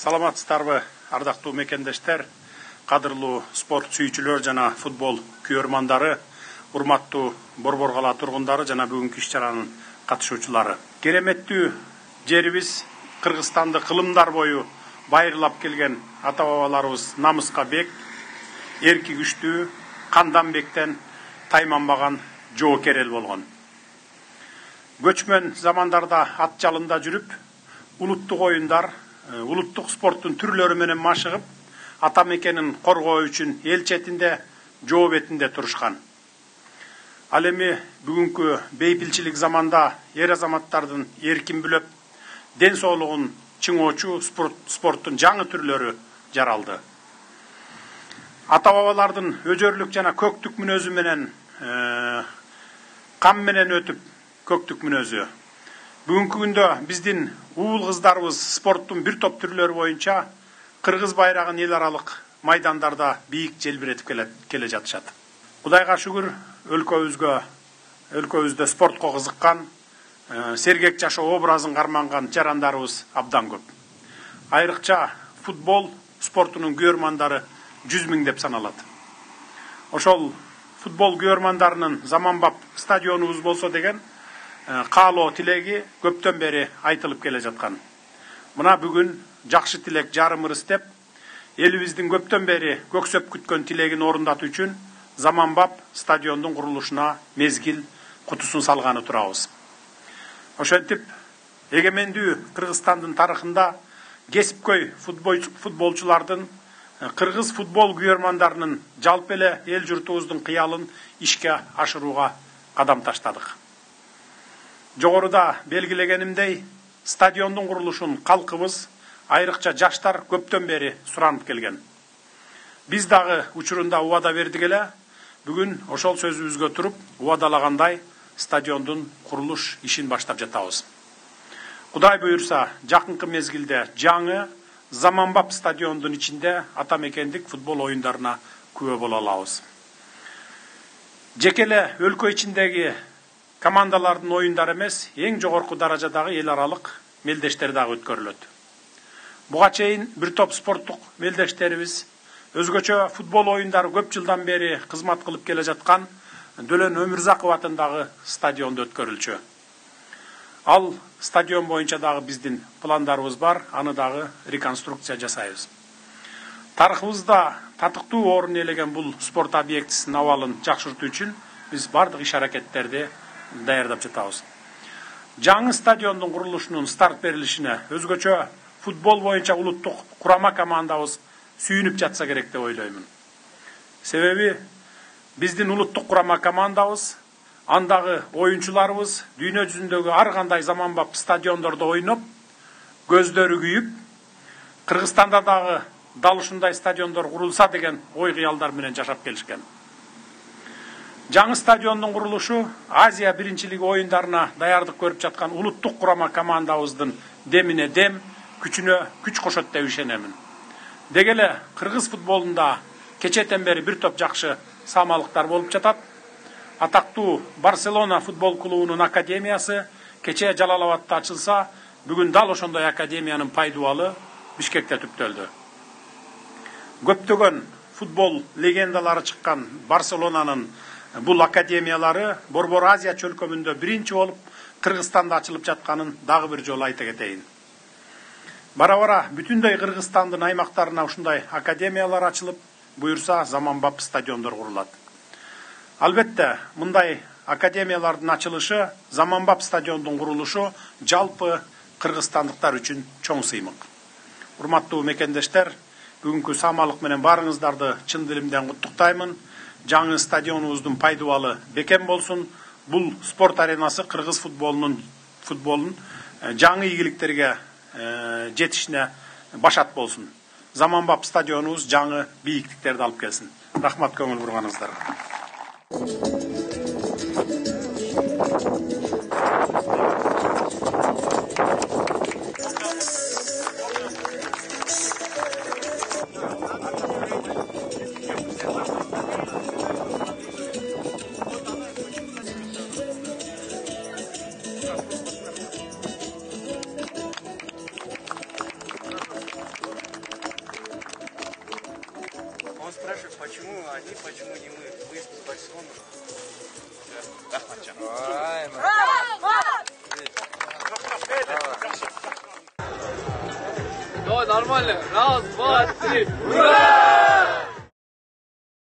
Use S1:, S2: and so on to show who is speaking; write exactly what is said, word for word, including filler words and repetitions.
S1: Саламатсыздарбы, ардактуу мекендештер, кадырлуу спорт сүйүүчүлөр жана футбол күйөрмандары, урматтуу Борбор кала тургундары жана бүгүнкү иш-чаранын катышуучулары. Кереметтүү жерибиз Кыргызстанды кылымдар бою байырлап келген ата-бабаларыбыз намыска бек, эрки күчтүү, кандан бектен тайманбаган жоокер эл болгон. Көчмөн замандарда ат жалында жүрүп, улуттук оюндар, улуттук спорттун түрлөрү менен машыгып, ата мекенин коргоо үчүн эл четинде, жоо бетинде турушкан. Ал эми бүгүнкү бейпилчилик заманда эр азаматтардын эркин бүлөп, ден соолугун чыңоочу спорт, спорттун жаңы түрлөрү жаралды. Ата-бабалардын өжөрлүк жана көктүк мүнөзү менен, э, кам менен өтүп, көктүк мүнөзү. Бүгүнкү күндө биздин уул кыздарыбыз спорттун бир топ түрлөрү боюнча кыргыз байрагын эл аралык майдандарда бийик желбиретип келе жатышат. Кудайга шүгүр, өлкөбүзгө, өлкөбүздө спортко кызыккан, сергек жашоо образын карманган жарандарыбыз абдан көп. Айрыкча футбол спортунун күйөрмандары жүз миң деп саналат. Ошол футбол күйөрмандарынын заманбап стадионубуз болсо деген каалоо тилеги көптөн бери айтылып келе жаткан. Мына бүгүн жакшы тилек жарым ырыс деп, элибиздин көптөн бери көксөп күткөн тилегин орундатуу үчүн заманбап стадиондун курулушуна мезгил кутусун салганы турабыз. Ошентип, эгемендүү Кыргызстандын тарыхында кесипкөй футболчулардын, кыргыз футбол күйөрмандарынын жалпы эле эл журтубуздун кыялын ишке ашырууга кадам таштадык. Жогоруда белгилегенимдей, стадиондун курулушун калкыбыз, айрыкча жаштар көптөн бери суранып келген. Биз дагы учурунда убада бердик эле, бүгүн ошол сөзүбүзгө туруп, убадалагандай стадиондун курулуш ишин баштап жатабыз. Кудай буйрса, жакынкы мезгилде жаңы, заманбап стадиондун ичинде ата мекендик футбол оюндарына күбө боло алабыз. Жеке эле өлкө ичиндеги командалардын оюндары эмес, эң жогорку даражадагы эл аралык мелдештер дагы өткөрүлөт. Буга чейин бир топ спорттук мелдештерибиз өзгөчө футбол оюндары көп жылдан бери кызмат кылып келе жаткан Дөлөн Өмүрзаков атындагы стадиондо өткөрүлчү. Ал стадион боюнча дагы биздин пландарыбыз бар, аны дагы реконструкция жасайбыз. Тарыхыбызда татыктуу орун ээлеген бул спорт объектисинин абалын жакшыртуу үчүн биз бардык иш-аракеттерди даярдап жатабыз. Жаңы стадиондун курулушунун старт берилишине өзгөчө футбол боюнча улуттук курама командабыз сүйүнүп жатса керек деп ойлоймун. Себеби биздин улуттук курама командабыз, андагы оюнчуларыбыз дүйнө жүзүндөгү ар кандай заманбап стадиондордо ойноп, көздөрү күйүп, Кыргызстанда дагы дал ушундай стадиондор курулса деген ой кыялдар менен жашап келишкен. Жаңы стадиондун курулушу Азия биринчилиги оюндарына даярдык көрүп жаткан улуттук курама командабыздын демине дем, күчүнө күч кошот деп ишенемин. Деги эле кыргыз футболунда кечетен бери бир топ жакшы самалыктар болуп жатат. Атактуу Барселона футбол клубунун академиясы кече Жалал-Абадта ачылса, бүгүн дал ошондой академиянын пайдубалы Бишкекте түптөлдү. Көптөгөн футбол легендалары чыккан Барселонанын бул академиялары Борбор Азия чөлкөмүндө биринчи болуп Кыргызстанда ачылып жатканын дагы бир жолу айта кетейин. Бара-бара бүтүндөй Кыргызстандын аймактарына ушундай академиялар ачылып, буйрса заманбап стадиондор курулат. Албетте, мындай академиялардын ачылышы, заманбап стадиондун курулушу жалпы кыргызстандыктар үчүн чоң сыймык. Урматтуу мекендештер, бүгүнкү самалык менен баарыңыздарды чын дилимден куттуктаймын. Жаңы стадионубуздун пайдубалы бекем болсун. Бул спорт аренасы кыргыз футболунун футболун жаңы ийгиликтерге жетишине башат болсун. Заманбап стадионубуз жаңы бийиктиктерди алып келсин. Рахмат көңүл бурганыңыздарга.
S2: почему не мы выезд в Барселону?
S3: Рахматжан.
S4: Давай, нормально. Раз, два, три. Ура!